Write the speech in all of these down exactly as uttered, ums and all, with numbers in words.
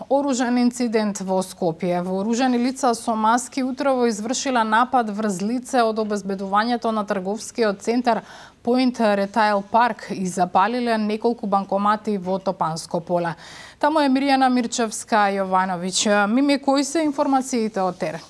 Оружен инцидент во Скопје. Вооружени лица со маски утрово извршила напад врз лице од обезбедувањето на трговскиот центар Point Retail Park и запалиле неколку банкомати во Топанско поле. Таму е Мирјана Мирчевска Јовановиќ. Мими, кои се информациите од терен?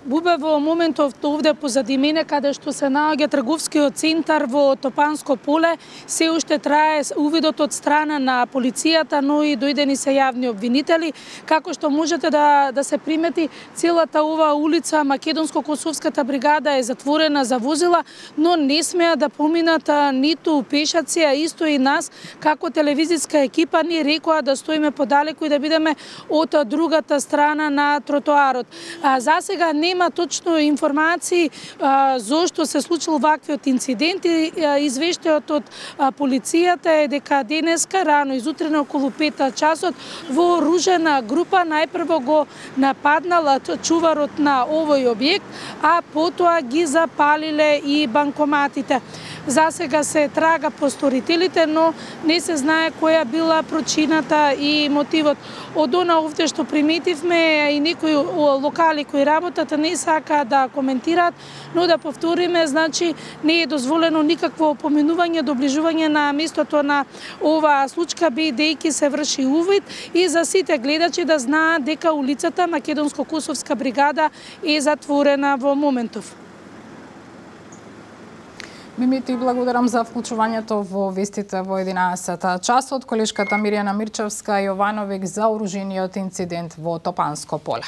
Бубе, во моментов овде позади мене, каде што се наоѓа трговскиот центар во Топанско поле, се уште трае увидот од страна на полицијата, но и дојдени се јавни обвинители. Како што можете да, да се примети, целата ова улица, Македонско-Косовската бригада е затворена за возила, но не смеа да поминат ниту пешаци, а исто и нас, како телевизиска екипа, ни рекоа да стоиме подалеку и да бидеме од другата страна на тротоарот. А, засега не Нема точно информации а, зошто се случил ваквиот инцидент и извештајот од а, полицијата е дека денеска рано изутрено околу пет часот вооружена група најпрво го нападнала чуварот на овој објект, а потоа ги запалиле и банкоматите. Засега се трага по сторителите, но не се знае која била причината и мотивот. Од она овде што приметивме и некои локали кои работат не сака да коментираат, но да повториме, значи не е дозволено никакво поминување, доближување на местото на оваа случка, бидејќи се врши увид и за сите гледачи да знаат дека улицата Македонско-Косовска бригада е затворена во моментов. Мими, ти благодарам за вклучувањето во вестите во единаесет часот. Колешката Мирјана Мирчевска Јовановиќ за оружениот инцидент во Топанско поле.